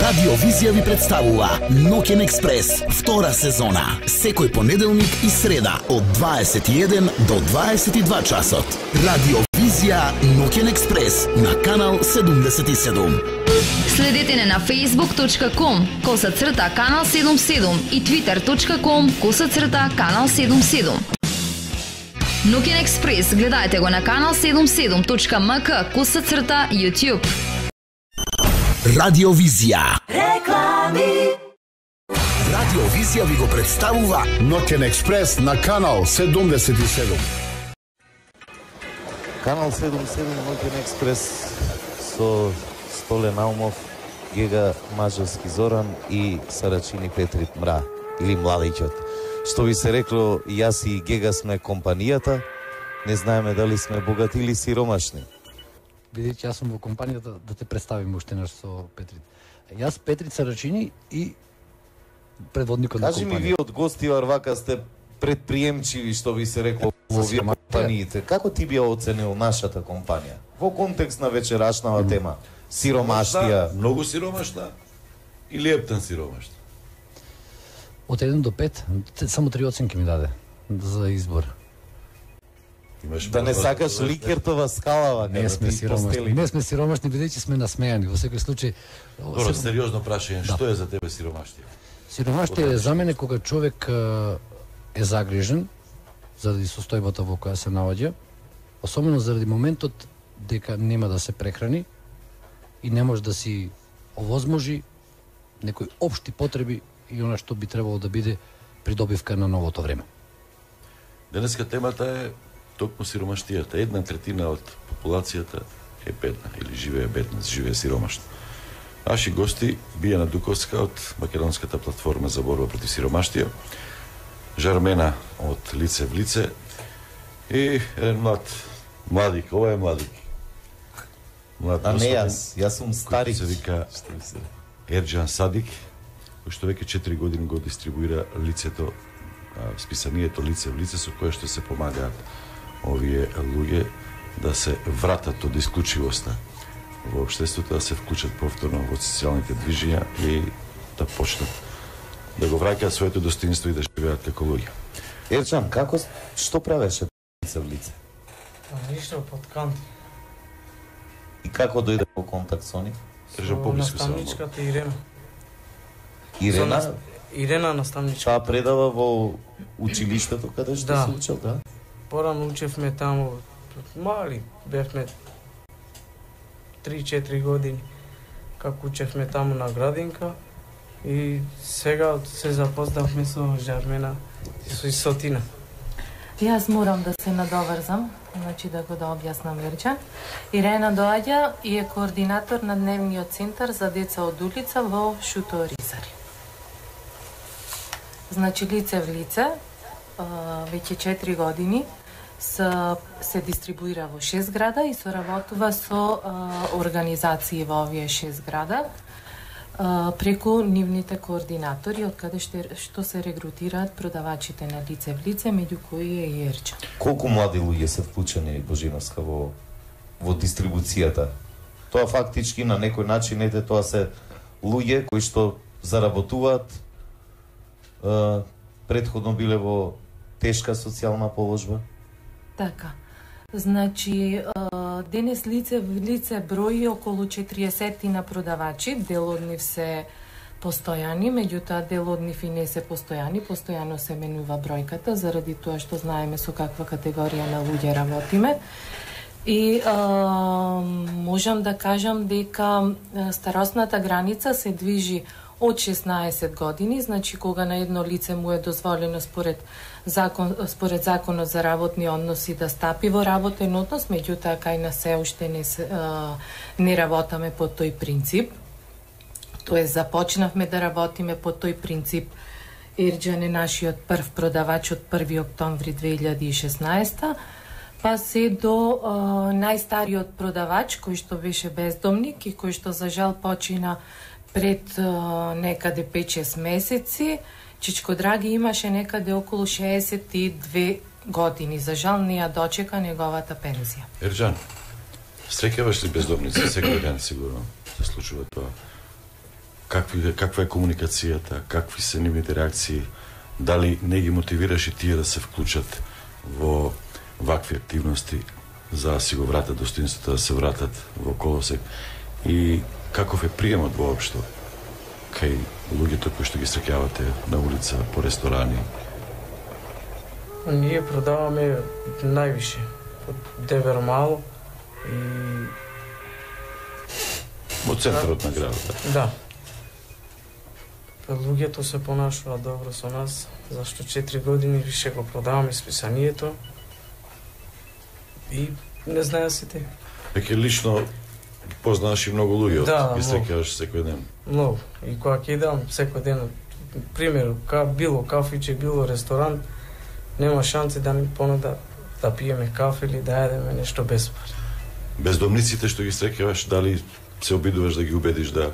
Радио Визија ви представува Ноќен експрес, втора сезона, секој понеделник и среда од 21 до 22 часот. Радио Визија Ноќен експрес на канал 77. Следете не на facebook.com/канал 77 и twitter.com/канал 77. Ноќен експрес гледајте го на канал 77.mk/YouTube. Радио Визија. Реклами. Радио Визија ви го представува Ноќен експрес на канал 77. Канал 77 Ноќен експрес со Столе Наумов, Гега Мажарски Зоран и Сарачини Петрит Мра или Младичот. Што ви се рекло, јас и Гега сме компанијата, не знаеме дали сме богати или сиромашни. Бидејќи јас сум во компанијата, да те представим уште наш со Петрит. Јас Петрит Сарачини и предводникот на компанијата. Кажи ми, вие од гости варвака сте предприемчиви, што ви се рекло во овие компаниите. Како ти би оценил нашата компанија? Во контекст на вечерашнава тема. Сиромаштија. Многу сиромашна или ептен сиромашна? Од 1 до 5, само 3 оценки ми даде за избор. Да не сакаш Ликертова скала, Не сме сиромашни. Не сме сиромашни, бидејќи сме насмејани. Во секој случај... Добро, сериозно прашање, што е за тебе сиромаштија? Сиромаштија е за мене кога човек е загрижен заради состојбата во која се наоѓа, особено заради моментот дека нема да се прехрани и не може да си овозможи некои општи потреби и она што би требало да биде придобивка на новото време. Денеска темата е токму сиромаштијата. 1/3 од популацијата е бедна или живее бедна, живее сиромашно. Наши гости Бијана Дуковска од Македонската платформа за борба против сиромаштија, Жармена од Лице в лице и еден младик, ова е младик. А не јас сум старик. Се вика Ерџан Садик, кој што веќе 4 години го дистрибуира лицето, списанието Лице в лице, со кое што се помагаат овие луѓе да се вратат од исклучивоста во општеството, да се вклучат повторно во социјалните движења и да почнат да го враќаат своето достоинство и да живеат како луѓе. Ерџан, што правеше Лице в лице? Ништо под канти. И како дојде во контакт со нив? Држам поблиску само. Наставничката Ирена. Ирена наставничка. Таа предава во училиштето каде што се учел, да? Порано учевме таму, мали, бевме 3-4 години, како учевме таму на градинка и сега се запознавме со Жармена и со Тина. Јас морам да се надоврзам, значи да го објаснам Ерџан. Ирена доаѓа и е координатор на дневниот центар за деца од улица во Шуто Ризари. Значи Лице в лице, веќе 4 години, се дистрибуира во 6 града и соработува со организации во овие 6 града преку нивните координатори, од каде што се регрутираат продавачите на Лице в лице, меѓу кои е и Ерџан. Колку млади луѓе се вклучени, Божиновска, во дистрибуцијата? Тоа фактички на некој начин ете тоа се луѓе кои што заработуваат, претходно биле во тешка социјална положба? Така. Значи, денес Лице в лице брои околу 40 на продавачи, дел од нив се постојани, меѓутоа дел од нив и не се постојани, постојано се менува бројката, заради тоа што знаеме со каква категорија на луѓе работиме. И можам да кажам дека старосната граница се движи од 16 години, значи кога на едно лице му е дозволено според законот за работни односи да стапи во работен однос, меѓутоа кај нас се уште не работаме по тој принцип. Тоест започнавме да работиме по тој принцип. Ерџан е нашиот прв продавач од 1 октомври 2016, па се до најстариот продавач кој што беше бездомник и кој што за жал почина пред некаде 5-6 месеци. Чичко Драги имаше некаде околу 62 години. За жал не ја дочека неговата пензија. Ерџан, среќаваш ли бездомници секој ден сигурно? Се случува тоа? каква е комуникацијата, какви се нивните реакции, дали не ги мотивираш и тие да се вклучат во вакви активности за да си го вратат достоинството, да се вратат во колосек и каков е приемот воопшто кај луѓето кои што ги среќавате на улица, по ресторани? Ние продаваме највише од Девер мало и Во центарот на градот. да. Луѓето се понашуваат добро со нас, зашто 4 години више го продаваме списанието и не знаеа сите. Веќе лично познаваш и многу луѓе, Да, ги многу. среќаваш секој ден. Многу. И кога ќе идам секој ден, пример, било кафиче, било ресторан, нема шанси да ни понуда да пиеме кафе или да јадеме нешто без пари. Бездомниците што ги среќаваш, дали се обидуваш да ги убедиш да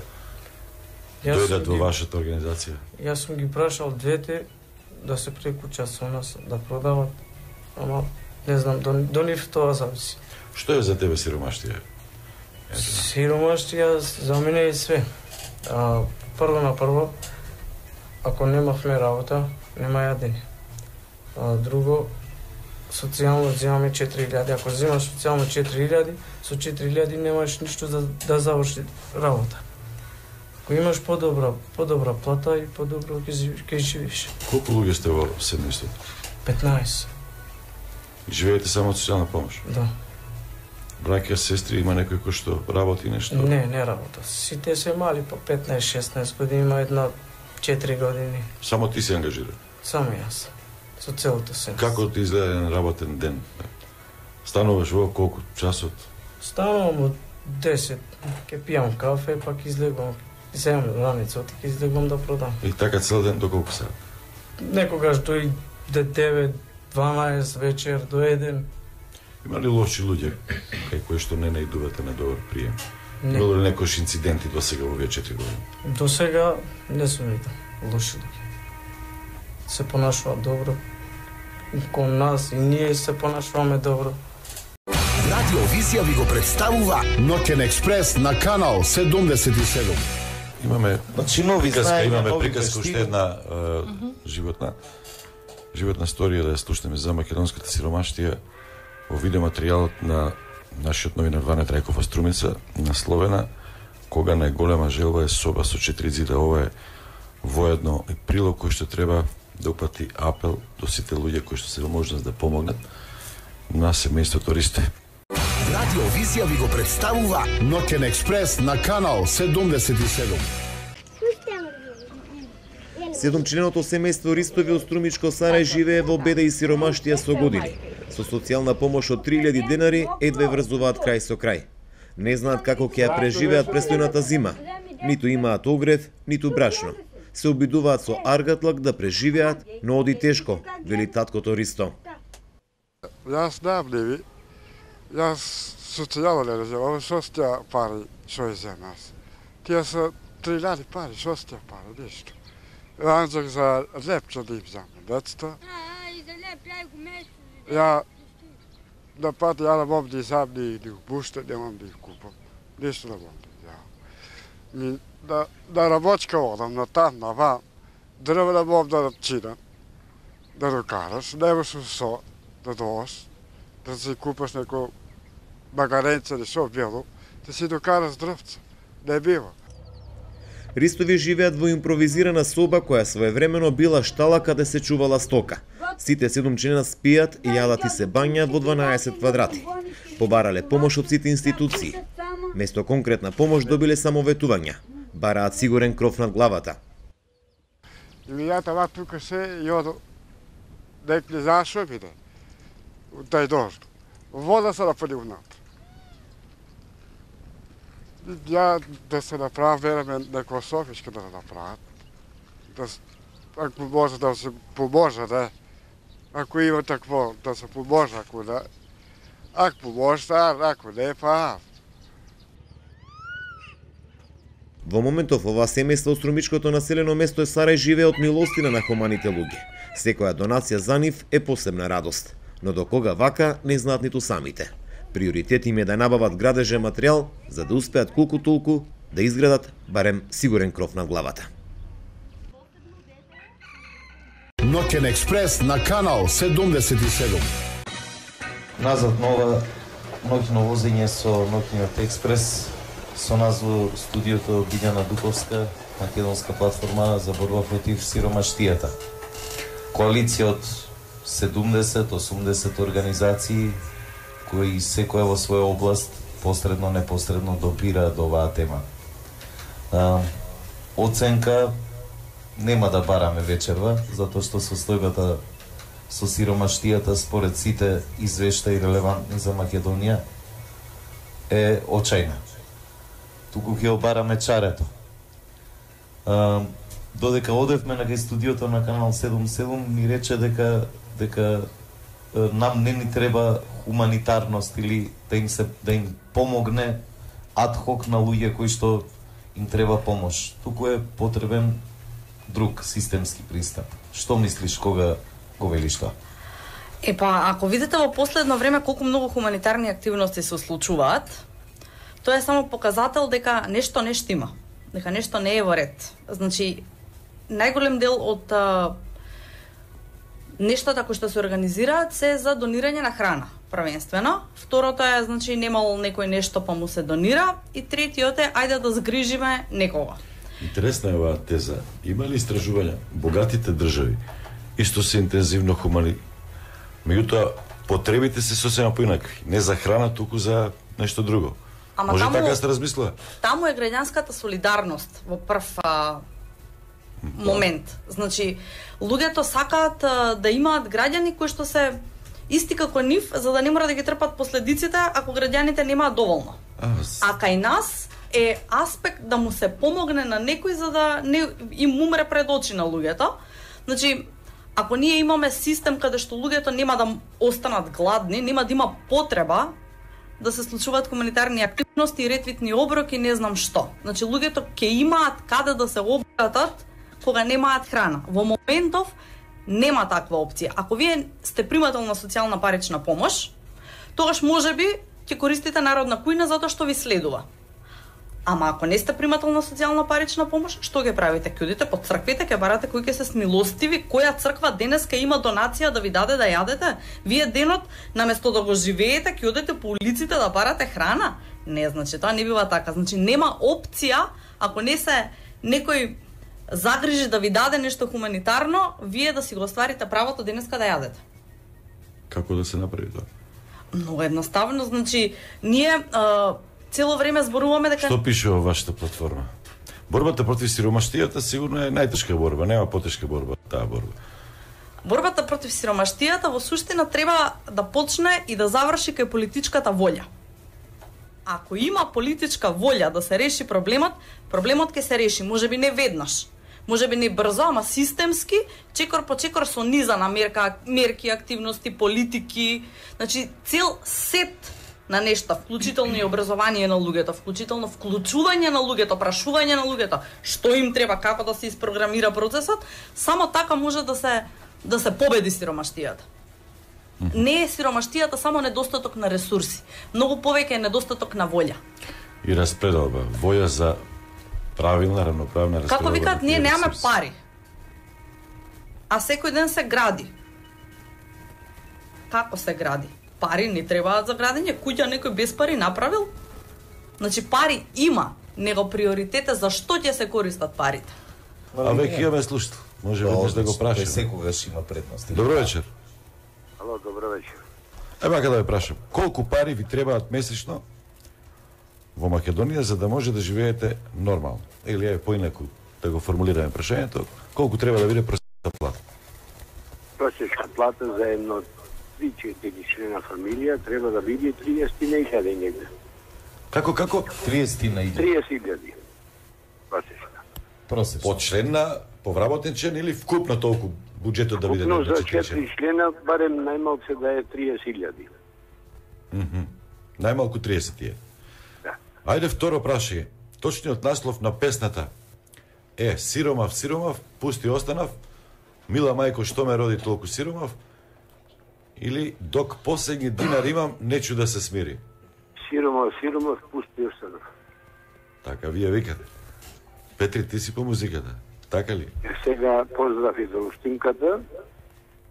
дојдат во вашата организација? Јас сум ги прашал двете да се прекучат со нас, да продават, ама не знам, до нив тоа зависи. Што е за тебе сиромаштија? Сиромаштија за мене е све. Прво на прво, ако немавме работа, нема јадење. Друго, социјално земаме 4.000. Ако земаш социјално 4.000, со 4.000 немаш ништо да заврши работа. Ако имаш подобра плата и подобро ќе живееш. Колку луѓе сте во семејството? 15. Живеете само од социјална помош? Да. Браќа, сестри, има некој кој што работи нешто? Не работа. Сите се мали по 15-16 години, има една 4 години. Само ти се ангажира? Само јас. Со целото се. Како ти изгледа еден работен ден? Стануваш во колку часот? Станувам од 10, ќе пијам кафе, пак излегувам, земам раницот и ќе излегувам да продам. И така цел ден до колку сат? Некогаш до 9, 12 вечер, до 1. Има ли лоши луѓе кај кои што не наидувате на добар прием? Не. Било ли некојш инциденти до сега во овие 4 години? До сега не сум видел лоши луѓе. Се понашуваат добро кон нас и ние се понашуваме добро. Радио Визија ви го представува Ноќен експрес на канал 77. Имаме нови знаења, имаме нови приказка уште една животна сторија да ја слушнеме за македонската сиромаштија во видеоматеријалот на нашиот новинар Ване Трајков од Струмица, насловена "Кога најголема желба е соба со 4 зида". Ова е воедно и прилог кој што треба да упати апел до сите луѓе кои што се во можност да помогнат на семејството Ристе. Радио Визија ви го представува Ноќен експрес на канал 77. Седумчленото семејство Ристови од Струмичко Сарај живее во беда и сиромаштија со години. Со социјална помош од 3000 денари едве врзуваат крај со крај. Не знаат како ќе ја преживеат престојната зима. Ниту имаат огрев, ниту брашно. Се обидуваат со аргатлак да преживеат, но оди тешко, вели таткото Ристо. Јас најавливи, јас социјално не разумам, што сте пари, што е за нас. Тие се 3000 пари, што сте пари, ништо. Анзак за лепче да им вземе децата. Ја на пат ја не мом да изам ни обуште, не мом да их купам. Ништо не мом да изам. Да работка одам на там, на вам, дрва не мом да чинам, да докараш, немаш со да доаш, да си купаш неко магаренце или шо било, да си докараш дрвца. Не бива. Ристови живеат во импровизирана соба која своевремено била штала каде се чувала стока. Сите 7 члена спијат и јадат и се бањаат во 12 квадрати. Побарале помош од сите институции. Место конкретна помош добиле само ветувања. Бараат сигурен кров над главата. И ја тава тука се и оdo некли зашо биде. Тај дожд. Вода се напали внатре. Ја да се направам, вераме некој софичка да направат. Ако може да се поможа, да. Ако има такво, да се поможа, ако не. Ако поможе, ако не, па. Во моментов ова семејство од Струмичкото населено место е Сарај живее од милостина на хуманите луѓе. Секоја донација за нив е посебна радост. Но до кога вака не знаат ниту самите. Приоритет им е да набават градежен материјал за да успеат колку толку да изградат барем сигурен кров над главата. Ноќен експрес на канал 77. Назад нова ноќно возење со Ноќниот експрес со нас во студиото Билјана Дуковска, македонска платформа за борба против сиромаштијата. Коалиција од 70-80 организации кои секоја во своја област посредно, непосредно допираат до оваа тема. Оценка нема да бараме вечерва, затоа што состојбата со сиромаштијата според сите извештаи релевантни за Македонија е очајна. Туку ќе обараме чарето. Додека одевме на кај студиото на канал 77 ми рече дека нам не ни треба хуманитарност или да им помогне адхок на луѓе кои што им треба помош. Туку е потребен друг системски пристап. Што мислиш кога го велиш тоа? Ако видите во последно време колку многу хуманитарни активности се случуваат, тоа е само показател дека нешто не штима, дека нешто не е во ред. Значи, најголем дел од нештата кои што се организираат се за донирање на храна, првенствено. Второто е, значи, немало некој нешто па му се донира. И третиот е, ајде да згрижиме некого. Интересна е оваа теза. Има ли истражувања? Богатите држави исто се интензивно хумани. Меѓутоа, потребите се сосема поинакви. Не за храна, туку за нешто друго. Ама може таму, така сте размислува? Таму е граѓанската солидарност во прв момент. Значи, луѓето сакаат да имаат граѓани кои што се исти како нив, за да не мора да ги трпат последиците ако граѓаните немаат доволно. А кај нас е аспект да му се помогне на некој за да не им умре пред очи на луѓето. Значи, ако ние имаме систем каде што луѓето нема да останат гладни, нема да има потреба да се случуваат хуманитарни активности и ретвитни оброки, не знам што. Значи, луѓето ќе имаат каде да се обратат кога немаат храна. Во моментов нема таква опција. Ако вие сте примател на социјална парична помош, тогаш можеби ќе користите народна кујна затоа што ви следува. Ама ако не сте примател на социјална парична помош, што ќе правите? Ќе одите по црквите, ќе барате кои ќе се смилостиви, која црква денеска има донација да ви даде да јадете? Вие денот наместо да го живеете, ќе одите по улиците да барате храна? Не, значи тоа не бива така. Значи нема опција ако не се некој загрижи да ви даде нешто хуманитарно, вие да си го остварите правото денеска да јадете. Како да се направи тоа? Много едноставно, значи ние цело време зборуваме дека Што пише во вашата платформа? Борбата против сиромаштијата сигурно е најтешка борба, нема потешка борба таа борба. Борбата против сиромаштијата во суштина треба да почне и да заврши кај политичката волја. Ако има политичка волја да се реши проблемот ќе се реши, можеби не веднаш, можеби не брзо, ама системски, чекор по чекор со низа на мерки, активности, политики, значи цел сет на нешта, вклучително и образование на луѓето, вклучително вклучување на луѓето, прашување на луѓето, што им треба, како да се испрограмира процесот, само така може да се победи сиромаштијата. Не е сиромаштијата само недостаток на ресурси, многу повеќе е недостаток на волја. И распределба, волја за правилна, равноправна распределба. Како викаат, ние немаме пари, а секој ден се гради. Како се гради? Пари не требаат за градење, куќа некој без пари направил? Значи пари има, него приоритет е за што ќе се користат парите. А веќе имаме слушател, може веднаш да го прашаме. Секогаш има предност. Добро вечер. Ало, добро вечер. Ева да ве прашам, колку пари ви требаат месечно во Македонија за да може да живеете нормално? Или е поинаку да го формулираме прашањето, колку треба да биде просечна плата? Просечна плата за едно 3-4 члена фамилија треба да биде 30.000 негде. Како? 30.000. 30.000. Просечна. По член на повработен член или вкупно толку буџетот да биде? Вкупно за 4 члена барем најмалку да е 30.000. Најмалку 30.000. Да. Ајде второ прашање. Точниот наслов на песната е Сиромав, пусти останав, мила мајко што ме роди толку сиромав, или док последни динар имам, нечу да се смири. Сиромав, пусти останав. Така вие викате. Петри, ти си по музиката, така ли? Сега поздрави за устимката,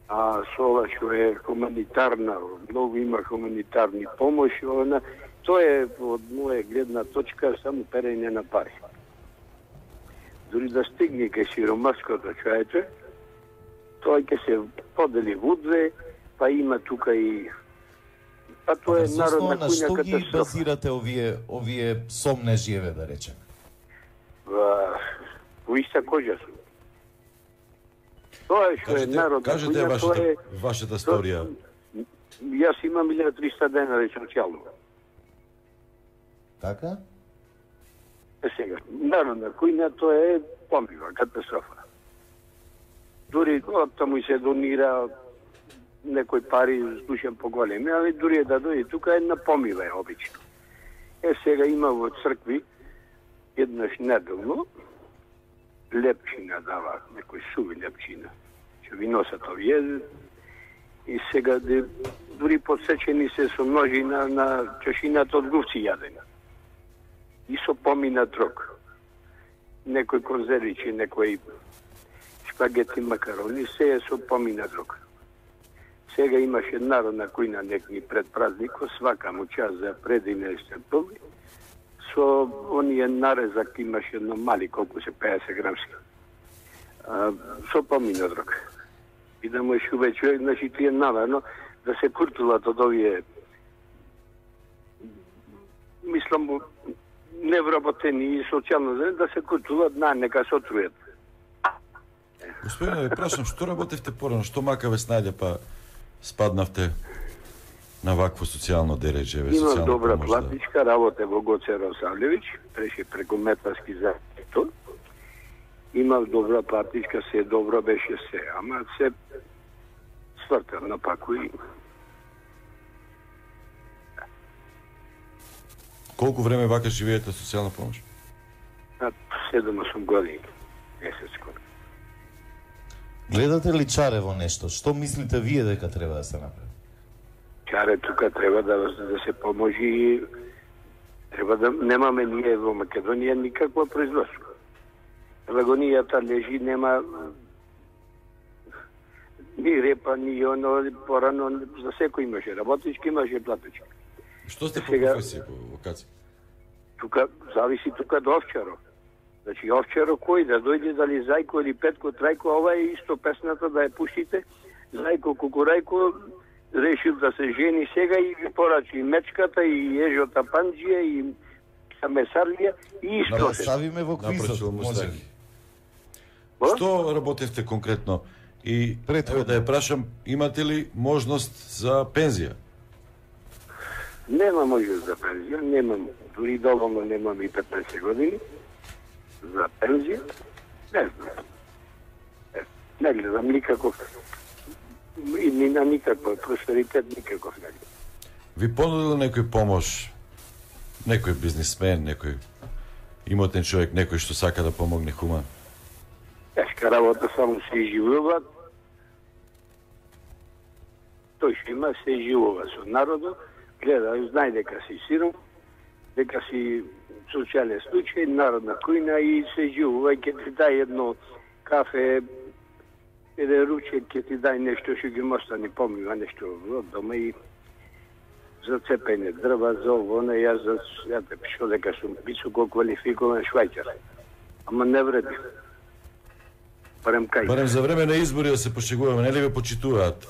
а со ова што е хуманитарна, многу има хуманитарни помоши, тоа е од моја гледна точка само перење на пари. Дори да стигне кај сиромашкото човече, тоа ќе се подели вудве, па има тука и... Па тоа е народна куња што ги катастрофа. базирате овие сомнежи, да речем? Во иста кожа сум. Тоа е што е народна Кажете куња, тоа е... вашата сторија. Јас имам 1300 денари социјално. Така? Сега, народна куња тоа е помпива, катастрофа. Дури таму се донира некои пари, слушам поголеми, али дури да дојде тука една помива е обично. Сега има во цркви еднаш неделно лепчина дава, некој суви лепчина, што ви носат овие, и сега дури подсечени се со ножи на чашината од гувци јадени. И со помина трок. Некој конзервичи, некој шпагети, макарони, се е со помина трок. Сега имаше народна кујна некој пред празникот, свака му час за предине степови, со оние нарезак имаше едно мали, колку се 50 грамски. Со помина трок. И да му е шубе човек, значи тие наварно да се куртулат од овие, мислам, невработени и социјално зелени, да се куртулат, нека се отрујат. Господине, ве прашам, што работевте порано, што макаве снаѓа, па спаднавте на вакво социјално дереже? Имам добра платничка, работе во Гоце Росавлевич, преше преку Метласки заето. Имав добра платничка, се добро беше се, ама се свртав на паку и... Колку време вака живеете социјална помош? 7-8 години, месец скоро. Гледате ли чаре во нешто? Што мислите вие дека треба да се направи? Чаре тука треба да се поможи и треба да немаме ние во Македонија никакво производство. Лагонијата лежи, нема ни репа, ни оно, порано, за секој имаше работички, имаше платички. Што сте по професија, по вокација? Тука, зависи тука до овчаро. Значи, овчаро кој да дојде, дали Зајко или Петко, Трајко, ова е исто песната да ја пуштите. Зајко, Кукурајко решил да се жени сега и ви порачи и мечката, и ежота панџија, и месарлија, и исто. Да ставиме во квизот, може ли? Што работевте конкретно? И еве да ја прашам, имате ли можност за пензија? Нема можност за пензија, немам, дури доволно немам и 15 години за пензија. Не знам. Не гледам никаков и ни на никаква просперитет, никаков не гледам. Ви понудил некој помош? Некој бизнисмен, некој имотен човек, некој што сака да помогне хуман? Тешка работа, само се изживува. Тој што има се изживува со народот, гледа, знае дека си сиром, дека си социјален случај, народна кујна и се изживува и ќе ти дај едно кафе, еден ручек, ќе ти дај нешто што ги мостани помива, нешто од дома и за цепење дрва, за ово, јас те пишо дека сум високо квалификован швајчар. Ама не вреди. Барем за време на избори да се пошегуваме, нели ве почитуваат?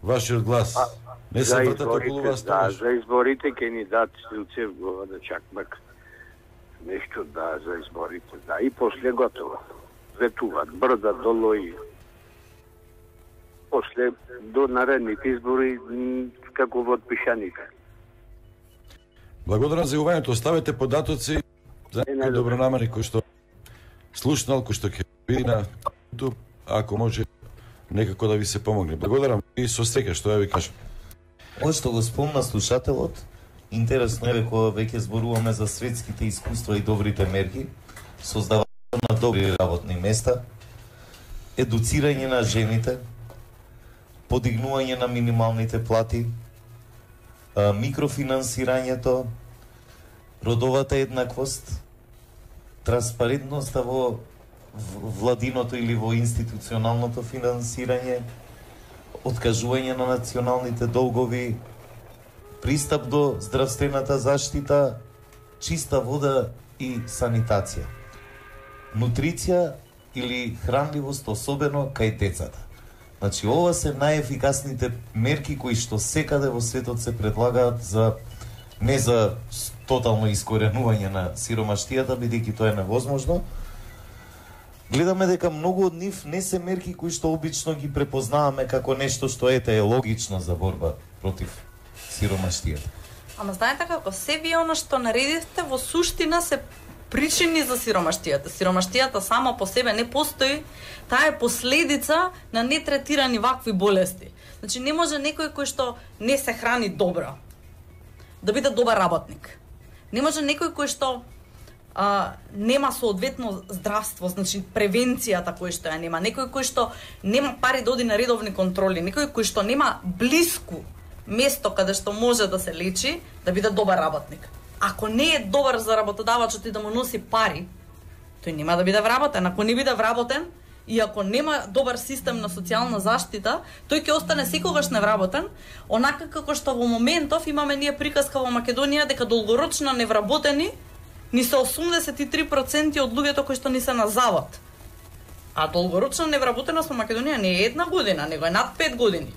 Вашиот глас. Не се вртат околу вас тоа. Да, за изборите ќе ни дадат стрелцев глава да чакмак. Нешто да, за изборите, да. И после готово. Ветуваат, брда долу и после до наредните избори како во пишаника. Благодарам за јавувањето. Оставете податоци за некој добронамерни кој што слушнал, кој што ќе види на YouTube, ако може некако да ви се помогне. Благодарам и со среќа што ја ви кажам. Ова што го спомна слушателот, интересно е кога веќе зборуваме за светските искуства и добрите мерки, создавање на добри работни места, едуцирање на жените, подигнување на минималните плати, микрофинансирањето, родовата еднаквост, транспарентноста во владиното или во институционалното финансирање, откажување на националните долгови, пристап до здравствената заштита, чиста вода и санитација. Нутриција или хранливост, особено кај децата. Значи, ова се најефикасните мерки кои што секаде во светот се предлагаат за не за тотално искоренување на сиромаштијата, бидејќи тоа е невозможно. Гледаме дека многу од нив не се мерки кои што обично ги препознаваме како нешто што е логично за борба против сиромаштијата. Ама знаете како, се вие оно што наредивте во суштина се причини за сиромаштијата. Сиромаштијата сама по себе не постои, таа е последица на нетретирани вакви болести. Значи не може некој кој што не се храни добро да биде добар работник. Не може некој кој што нема соодветно здравство, значи превенцијата кој што ја нема, некој кој што нема пари да оди на редовни контроли, некој кој што нема блиску место каде што може да се лечи, да биде добар работник. Ако не е добар за работодавачот и да му носи пари, тој нема да биде вработен. Ако не биде вработен и ако нема добар систем на социјална заштита, тој ќе остане секогаш невработен, онака како што во моментов имаме ние приказка во Македонија дека долгорочно невработени ни се 83% од луѓето кои што ни се на завод. А долгорочна невработеност во Македонија не е 1 година, него е над 5 години.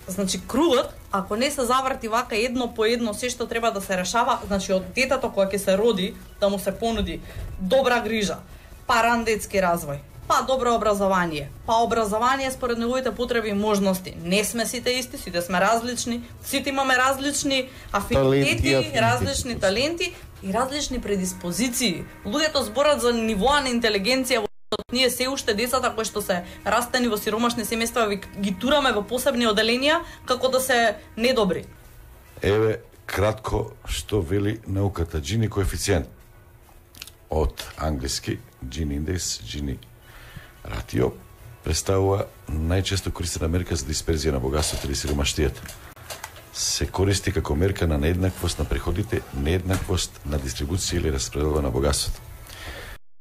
Значи кругот, ако не се заврти вака едно по едно се што треба да се решава, значи од детето кога ќе се роди, да му се понуди добра грижа, па ран детски развој, па добро образование, па образование според неговите потреби и можности. Не сме сите исти, сите сме различни, сите имаме различни афинитети, различни таленти и различни предиспозиции. Луѓето зборат за нивоа на интелигенција. Ние се уште децата кои што се растени во сиромашни семејства ги тураме во посебни оделенија како да се недобри. Еве кратко што вели науката. Джини коефициент од англиски Gini индекс, Gini ратио представува најчесто користена мерка за дисперзија на богатството или сиромаштијата. Се користи како мерка на нееднаквост на приходите, нееднаквост на дистрибуција или распределба на богатството.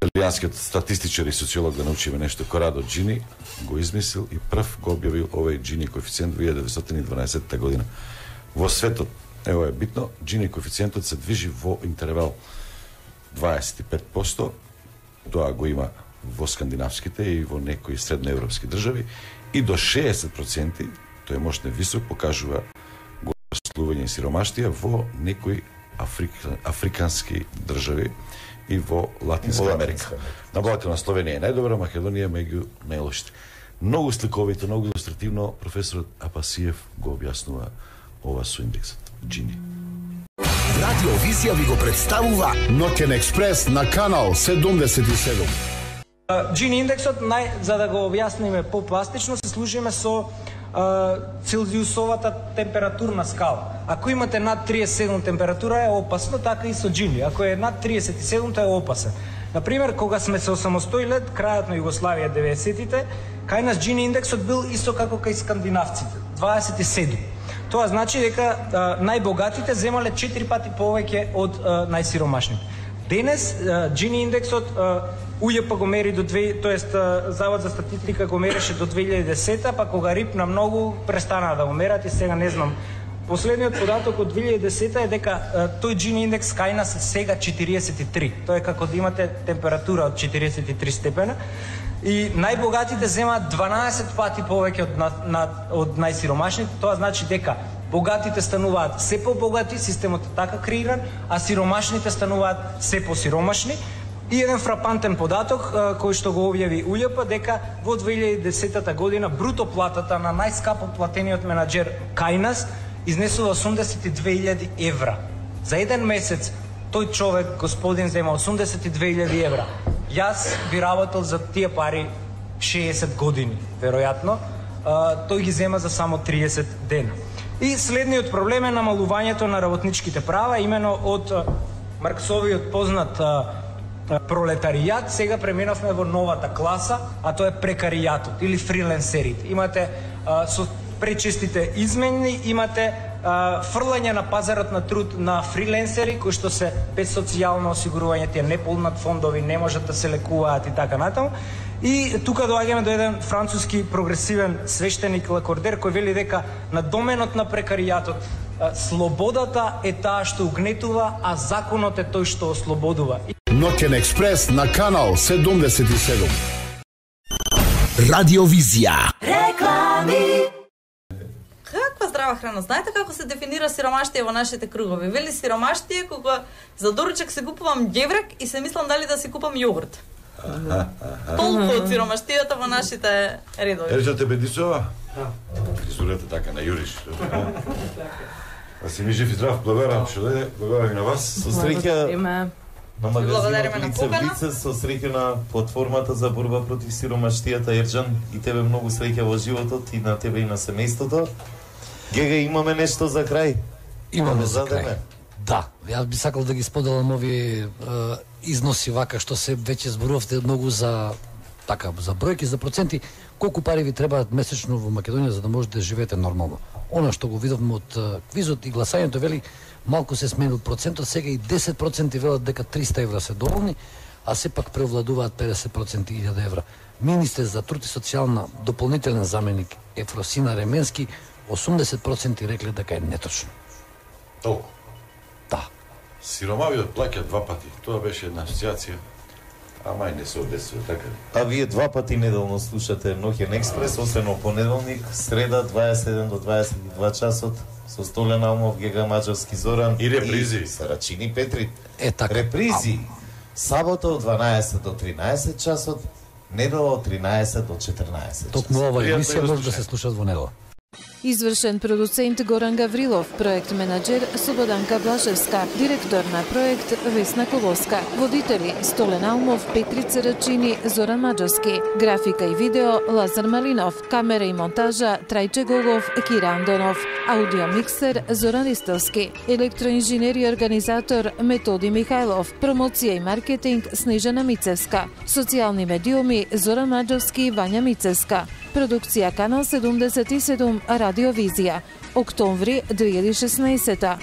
Италијанскиот статистичар и социолог, да научиме нешто, Корадо Джини го измислил и прв го објавил овој Джини коефициент во 1912 година. Во светот, ево е битно, Джини коефициентот се движи во интервал 25%, тоа го има во скандинавските и во некои средноевропски држави, и до 60%, тој можне висок, покажува го слување и сиромаштија во некои африкански држави и во Латинска Америка. Набавата на Словенија е најдобра, Македонија меѓу најлошите. Многу сликовито, многу илустративно професорот Апасиев го објаснува ова со индексот Джини. Радио Визија ви го представува Ноќен експрес на канал 77. Джини индексот, за да го објасниме попластично, се служиме со целзиусовата температурна скала. Ако имате над 37 температура е опасно, така и со Джини. Ако е над 37 тоа е опасен. Например, кога сме се осамостоиле, крајот на Југославија 90-тите, кај нас Джини индексот бил исто како кај скандинавците, 27. Тоа значи дека најбогатите земале 4 пати повеќе од најсиромашните. Денес Джини индексот УЈП го мери до Завод за статистика го мереше до 2010, па кога рипна многу престанаа да го мерат и сега не знам. Последниот податок од 2010 е дека тој Джини индекс кај нас сега 43. Тоа е како да имате температура од 43 степена. И најбогатите земаат 12 пати повеќе од најсиромашните. Тоа значи дека богатите стануваат се побогати, системот е така креиран, а сиромашните стануваат се посиромашни. И еден фрапантен податок кој што го објави УЈП дека во 2010 година бруто платата на најскапо платениот менаџер кај нас изнесува 82.000 евра. За еден месец тој човек, господин, зема 82.000 евра. Јас би работел за тие пари 60 години, веројатно. Тој ги зема за само 30 дена. И следниот проблем е намалувањето на работничките права, имено од Марксовиот познат пролетаријат, сега преминавме во новата класа, а тоа е прекаријатот или фриленсерите. Имате со пречестите измени, имате фрлање на пазарот на труд на фриленсери кои што се без социјално осигурување, тие не полнат фондови, не можат да се лекуваат и така натаму. И тука доаѓаме до еден француски прогресивен свештеник Лакордер кој вели дека на доменот на прекаријатот слободата е таа што угнетува, а законот е тој што ослободува. Ноќен експрес на канал 77. Радиовизија. Реклами. Каква здрава храна? Знаете како се дефинира сиромаштие во нашите кругови? Вели сиромаштие кога за доручак се купувам ѓеврек и се мислам дали да си купам јогурт. Толку од сиромаштијата во нашите редови. Ерџан те бедисова? Фризурата така на Јуриш. А си ми жив и здрав, благодарам што дојде, благодарам и на вас. Со среќа на магазинот лице в лице, со среќа на платформата за борба против сиромаштијата, Ерџан, и тебе многу среќа во животот, и на тебе и на семејството. Гега, имаме нешто за крај? Имаме за крај. Да, јас би сакал да ги споделам овие износи вака што се веќе зборувавте многу за така за бројки, за проценти, колку пари ви требаат месечно во Македонија за да можете да живеете нормално. Она што го видовме од квизот и гласањето вели малку се сменил процентот, сега и 10% велат дека 300 евра се доволни, а сепак преовладуваат 50% 1000 евра. Министер за труд и социјална дополнителен заменик Ефросина Ременски 80% рекле дека е неточно. Толку? Да. Сиромавиот плаќа 2 пати. Тоа беше една асоциација. Ама и не се одесува, така ли? А вие 2 пати неделно слушате Ноќен експрес, освен во понеделник, среда 27 до 22 часот, со Столен Алмов, Гега Маđarски Зоран и репризи. И Сарачини Петрит. Така. Репризи. Сабота од 12 до 13 часот, недела од 13 до 14 часот. Токму ова емисија може да се слушат во недела. Извршен продуцент Горан Гаврилов, проект менаџер Слободанка Блажевска, директор на проект Весна Колоска, водители Столен Алмов, Петри Царачини, Зоран Маđarски, графика и видео Лазар Малинов, камера и монтажа Трајче Гогов, Кира Андонов, аудио миксер Зоран Ристелски, електроинженер и организатор Методи Михајлов, промоција и маркетинг Снежана Мицевска, социјални медиуми Зоран Маđarski и Вања Мицевска. Продукција Канал 77 Радиовизија. Октомври 2016.